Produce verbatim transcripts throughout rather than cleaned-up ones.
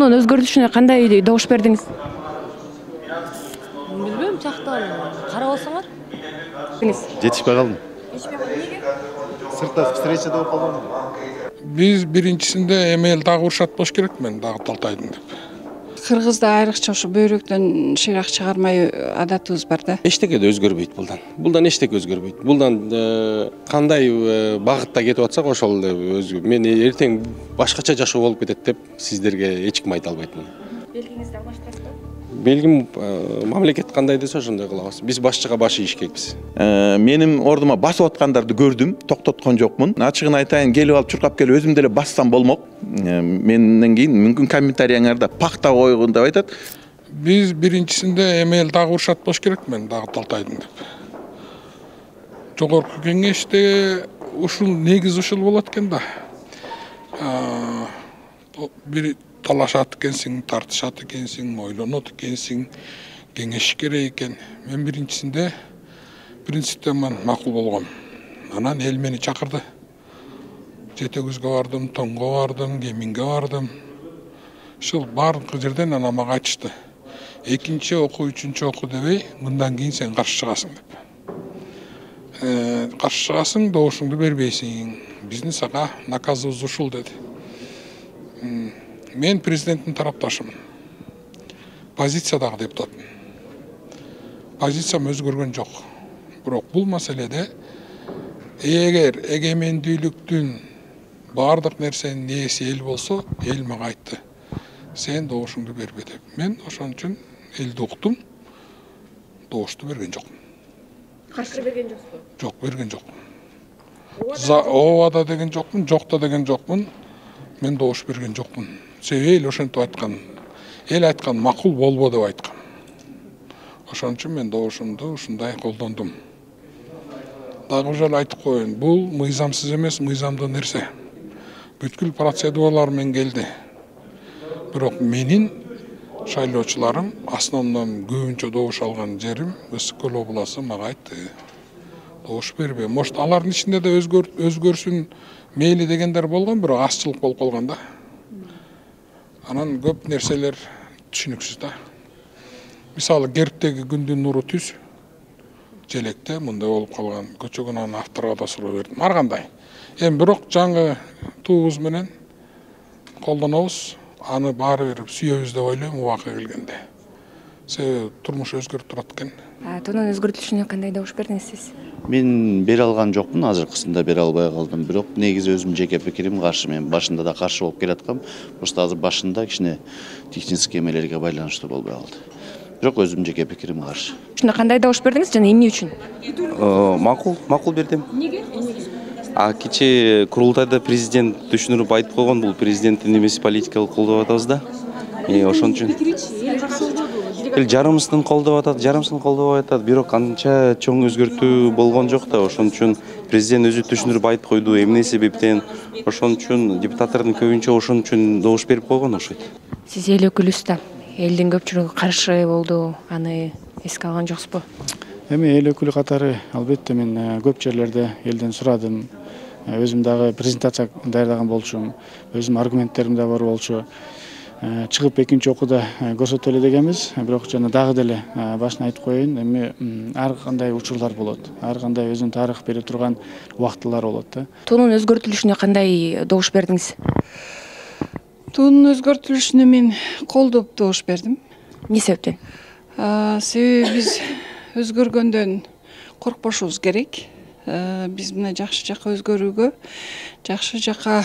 Мунун өзгөртүлүшүнө кандай добуш бердиңиз? Билбейм, жактан карап алсаңар. Жетишпей калдым. Сыртта встречада болуп калгам. Биз биринчисинде эми эл дагы урушат болуш керек, мен дагы талтайдым деп. Кыргызда айрыкча ошо бөйрөктөн шыйрак чыгармай адатыбыз бар да. Эчтеке да өзгөрбөйт булдан. Булдан эчтеке өзгөрбөйт. Булдан кандай багытта кетип атсак ошол өзгөр. Мен эртең башкача жашоо болуп кетет деп сиздерге эч ким айта албайт. Белгиңизди алмаштырасызбы? Белгим мамлекет кандай десе ошондой кылабыз. Биз башчыга баш ийишкекпиз. Менин ордума басып аткандарды көрдүм, токтоткон жокмун. Ачыгын айтайын, келип алып чуркап келип өзүм деле бассам болмок. Менден кийин мүмкүн комментарийиңарда пакта койгон деп айтат. Биз биринчисинде эми эл дагы урушат болуш керек, мен дагы талтайдым деп. Жогорку кеңеште ушул негиз ушул болот экен да. Бир талашат экенсиң, тартышат экенсиң, ойлонот экенсиң, кеңеш керек экен. Мен биринчисинде принциптен мен макул болгом. Анан эл мени чакырды. Жете күзгө бардым, тоңго бардым, кеминге бардым. Ушул баардык жерден анан мага айтышты. Экинчи окуу, үчүнчү окуу дебей, мындан кийин сен каршы чыгасың деп. Каршы чыгасың, добушуңду бербейсиң. Биздин сага наказыбыз ушул деди. Мен президенттин тарапташымын. Позиция дагы депутатмын. Позициям өзгөргөн жок. Бирок бул маселеде эгер эгемендүүлүктүн баардык нерсенин ээси эл болсо, эл мага айтты. Сен добушуңду бербе деп. Мен ошон үчүн элди уктум. Добушту берген жокмун. Каршы берген жоксузбу? Жок, берген жокмун. Ооба да деген жокмун, жок да деген жокмун. Мен добуш берген жокмун. Себеби эл ошентип айткан. Эл айткан макул болбо деп айткан. Ошон үчүн мен добушумду ушундай колдондум. Дагы жолу айтып коеюн, бул мыйзамсыз эмес, мыйзамдуу нерсе. Бүткүл процедуралар менен келди. Бирок менин шайлоочуларым основном көбүнчө добуш алган жерим Ысык көл областы мага айтты. Добуш бербе. Может, алардын ичинде да өзгөрсүн мейли дегендер болгон, бирок азчылык болуп калган да. Анан көп нерселер түшүнүксүз да. Мисалы, Герптеги күндүн нуру түз. Желекте мындай болуп калган. Көчөгөн анын авторго да суроо бердим. Ар кандай. Эми бирок жаңы туубуз менен колдонобуз. Аны баары бир сүйөбүз деп ойлойм убакыт келгенде. Себеби турмуш өзгөрүп турат экен. Тонун өзгөртүлүшүнө кандай добуш бердиңиз сиз? Мен бере алган жокмун, азыркысында бере албай калдым. Бирок негизи өзүм жеке пикирим каршы. Мен башында да каршы болуп келаткам. Просто азыр башында кичине технический эмелерге байланыштуу болбой калды. Бирок өзүм жеке пикирим каршы. Ушуна кандай добуш бердиңиз жана эмне үчүн? Макул, макул бердим. Неге? А кечээ курултайда президент түшүнүрүп айтып койгон, бул президенттин эмеси политикалык колдоп атабыз да. Ошон үчүн эл жарымысын колдоп атат, жарымысын колдобой атат, бирок анча чоң өзгөртүү болгон жок да. Ошон үчүн президент өзү түшүнүрүп айтып койду, эмне себептен. Ошон үчүн депутаттардын көбүнчө ошон үчүн добуш берип койгон окшойт. Сиз эл өкүлүсүз да. Элдин көпчүлүгү каршы болду, аны эске алган жоксузбу? Эми эл өкүлү катары албетте мен көп жерлерде элден сурадым. Өзүм дагы презентация даярдаган болчумун. Өзүм аргументтерим да бар болчу. Чыгып экинчи окууда көрсөтөлү дегенбиз. Бирок жана дагы деле башына айтып коеюн, эми ар кандай учурлар болот. Ар кандай өзүнүн тарых бере турган убактылар болот да. Тонун өзгөртүлүшүнө кандай добуш бердиңиз? Тонун өзгөртүлүшүнө мен колдоп добуш бердим. Эмне себептен? Себеби биз өзгөргөндөн коркпошубуз керек. Биз мына жакшы жакка өзгөрүүгө, жакшы жакка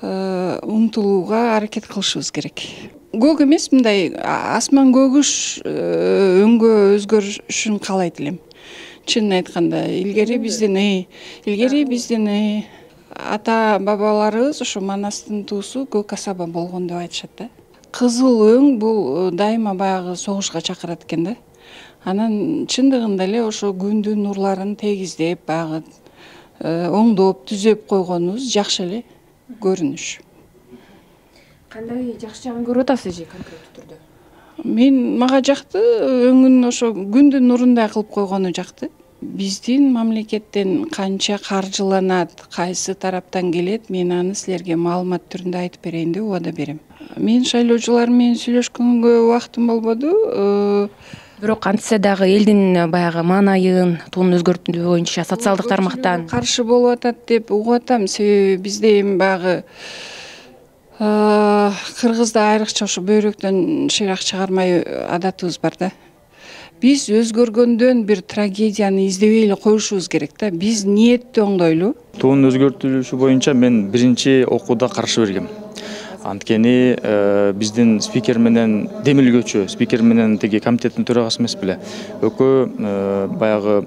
умтулууга аракет кылышыбыз керек. Көк эмес, мындай асман көгүш өңгө өзгөрүшүн каалайт элем. Чынын айтканда, илгери бизден илгери биздин ата бабаларыбыз ошо Манастын туусу көк асаба болгон деп айтышат да. Кызыл өң бул дайыма баягы согушка чакырат экен да. Анан чындыгында эле ошо күндүн нурларын тегиздеп, баягы оңдоп, түзөп койгонубуз жакшы эле көрүнүш. Кандай жакшы жагын көрүп атасыз же конкреттүү түрдө? Мен мага жакты, өңүн ошо күндүн нурундай кылып койгону жакты. Биздин мамлекеттен канча каржыланат, кайсы тараптан келет, мен аны силерге маалымат түрүндө айтып берейин деп убада берем. Мен шайлоочулар менен сүйлөшкөнгө убактым болбоду. Бирок антсе дагы элдин баягы маанайын, туунун өзгөртүү боюнча социалдык тармактан каршы болуп атат деп угуп атам. Себеби бизде эми баягы кыргызда айрыкча ушу бөйрөктөн шыйрак чыгармай адатыбыз бар да. Биз өзгөргөндөн бир трагедияны издебей эле коюшубуз керек да. Биз ниетти оңдойлу. Туунун өзгөртүлүшү боюнча мен биринчи окууда каршы бергем. Анткени биздин спикер менен демилгөөчү, спикер менен тиги комитеттин төрагасы эмес беле. Экөө баягы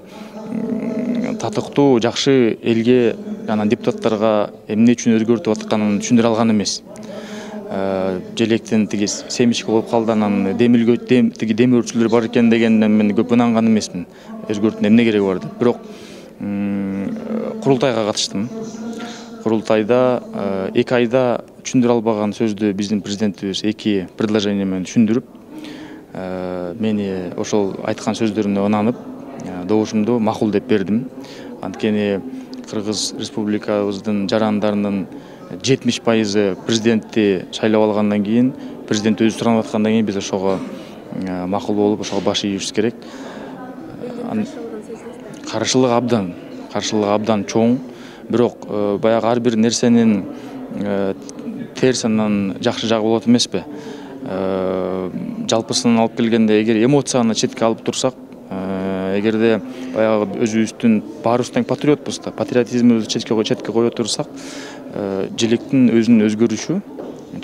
татыктуу, жакшы элге жана депутаттарга эмне үчүн өзгөртүп атканын түшүндүрө алган эмес. Желектен тиги семичке болуп калды, анан демилгөө тиги демирчүлөр бар экен дегенден мен көп ынанган эмесмин. Өзгөртүүнүн эмне кереги бар деп. Бирок курултайга катыштым. Курултайда эки айда түшүндүрө албаган сөздү биздин президентибиз эки предложение менен түшүндүрүп, мени ошол айткан сөздөрүнө ынанып, добушумду макул деп бердим. Анткени Кыргыз Республикабыздын жарандарынын жетимиш пайызы президентти шайлап алгандан кийин, президент өзү суранып аткандан кийин биз ошого макул болуп, ошого баш ийишибиз керек. Каршылык абдан, каршылык абдан чоң. Бирок баягы ар бир нерсенин терс анан жакшы жагы болот эмеспи? Жалпысынан алып келгенде, эгер эмоцияны четке алып турсак, эгерде баягы өзүбүздүн баарыбыз тең патриотпуз да, патриотизмибизди четке четке кое турсак, желектин өзүнүн өзгөрүшү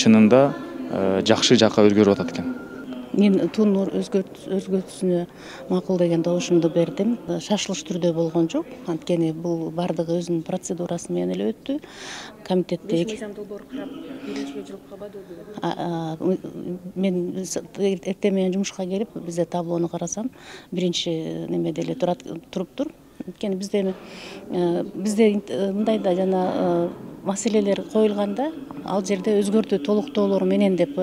чынында жакшы жакка өзгөрүп атат экен. Мен туунун өзгөртүүсүнө макул деген добушумду бердим. Шашылыш түрдө болгон жок. Анткени бул бардыгы өзүнүн процедурасы менен эле өттү. Комитетте мен эртең менен жумушка келип, бизде таблону карасам, биринчи немеде эле туруптур. Анткени бизде бизде мындай да жана маселелер коюлганда, ал жерде өзгөртүү толуктоолор менен деп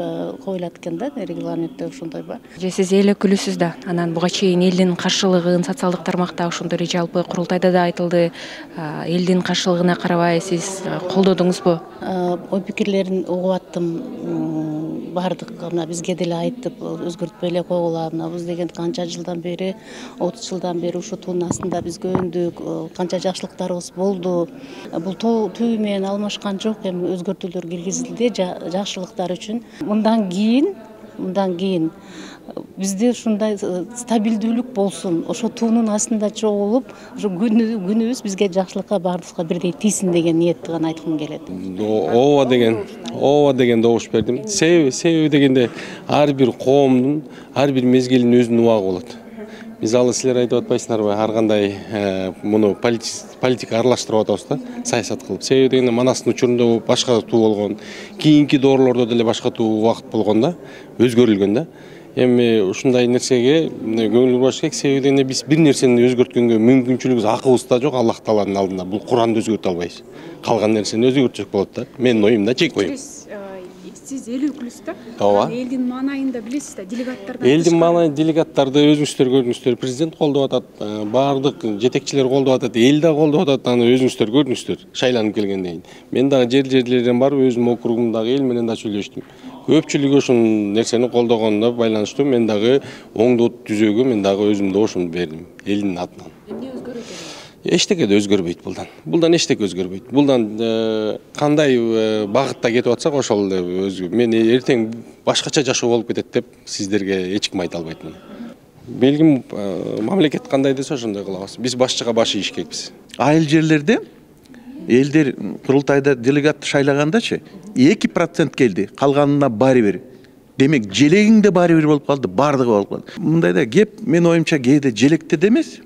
коюлат экен да, регламентте ошондой бар. Же сиз эл өкүлүсүз да, анан буга чейин элдин каршылыгын социалдык тармакта ошондой жалпы курултайда да айтылды. Элдин каршылыгына карабай сиз колдодуңузбу? Ой пикирлерин угуп аттым. Бардык мына бизге деле айтып, өзгөртпөй эле койгула, мына биз деген канча жылдан бери, отуз жылдан бери ушу туунун астында биз көндүк, канча жакшылыктарыбыз болду. Бул түбү менен алмашкан жок, эми өзгөртүүлөр киргизилди жакшылыктар үчүн. Мындан кийин, мындан кийин бизде ушундай стабилдүүлүк болсун, ошо туунун астында чогулуп, ошо күнүбүз бизге жакшылыкка баарыбызга бирдей тийсин деген ниетти гана айткым келет. Ооба деген, ооба деген добуш бердим. Себеби, себеби дегенде ар бир коомдун, ар бир мезгилдин өзүнүн убагы болот. Биз алы силер айтып атпайсыңарбы, ар кандай муну политика аралаштырып атабыз да, саясат кылып. Себеби дегенде Манастын учурунда башка туу болгон, кийинки доорлордо деле башка туу убакыт болгон да, өзгөрүлгөн да. Эми ушундай нерсеге көңүл бурбаш керек. Себеби дегенде биз бир нерсени өзгөрткөнгө мүмкүнчүлүгүбүз, акыбызда жок Аллах Тааланын алдында. Бул Куранды өзгөртө албайбыз. Калган нерсени өзгөртсөк болот да. Менин оюм да, чек оюм. Сиз эл өкүлүсүз да? Ооба. Элдин маанайын да билесиз да, делегаттардан. Элдин маанайын делегаттарды өзүңүздөр көрдүңүздөр, президент колдоп атат, баардык жетекчилер колдоп атат, эл да колдоп атат, аны өзүңүздөр көрдүңүздөр шайланып келгенден кийин. Мен дагы жер жерлерден барып, өзүм округумдагы эл менен да сүйлөштүм. Көпчүлүгү ушул нерсени колдогонуна байланыштуу мен дагы оңдоо түзөөгө мен дагы өзүмдүн добушумду бердим элдин атынан. Эмне өзгөрөт? Эчтеке да өзгөрбөйт булдан. Булдан эчтеке өзгөрбөйт. Булдан кандай багытта кетип атсак ошол өзгөр. Мен эртең башкача жашоо болуп кетет деп сиздерге эч ким айта албайт муну. Белгим мамлекет кандай десе ошондой кылабыз. Биз башчыга баш ийиш керекпиз. Айыл жерлерде элдер курултайда делегат шайлагандачы эки процент келди, калганына баары бир. Демек желегиң да баары бир болуп калды, бардыгы болуп калды. Мындайда кеп мен оюмча кээде желекте демес,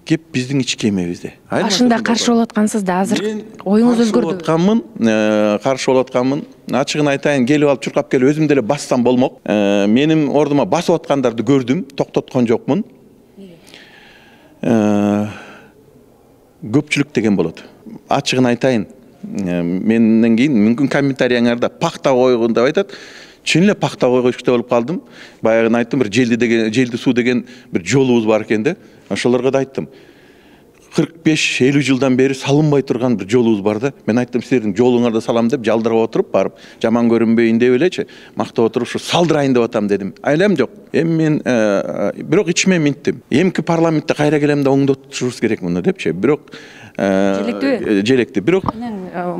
кеп биздин ички эмебизде. Башында каршы болуп аткансыз да, азыр оюңуз өзгөрдү. Атканмын, каршы болуп атканмын. Ачыгын айтайын, келип алып чуркап келип өзүм деле бассам болмок. Менин ордума басып аткандарды көрдүм, токтоткон жокмун. Көпчүлүк деген болот. Ачыгын айтайын, менден кийин мүмкүн комментарийыңарда пакта койгон деп айтат. Чын эле пакта койгучта болуп калдым. Баягы айттым, бир желди деген, желди суу деген бир жолубуз бар экен да. Ошолорго да айттым. кырк беш элүү жылдан бери салынбай турган бир жолубуз бар да. Мен айттым, силердин жолуңарды салам деп, жалдырып отуруп барып, жаман көрүнбөйүн деп элечи, мактап отуруп ушу салдырайын деп атам дедим. Айлам жок. Эми мен бирок ичиме минттим. Эмки парламентте кайра келем да оңдотушубуз керек муну депчи. Бирок желектүү. Желекти. Бирок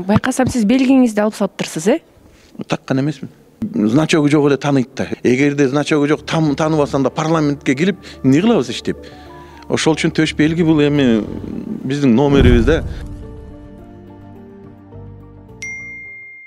байкасам сиз белгиңизди алып салыптырсыз, э? Таккан эмесмин. Значогу жок эле тааныйт да. Эгерде значогу жок тааныбасаң да парламентке келип эмне кылабыз иштеп? Ошол үчүн төш белги бул эми биздин номерибиз да.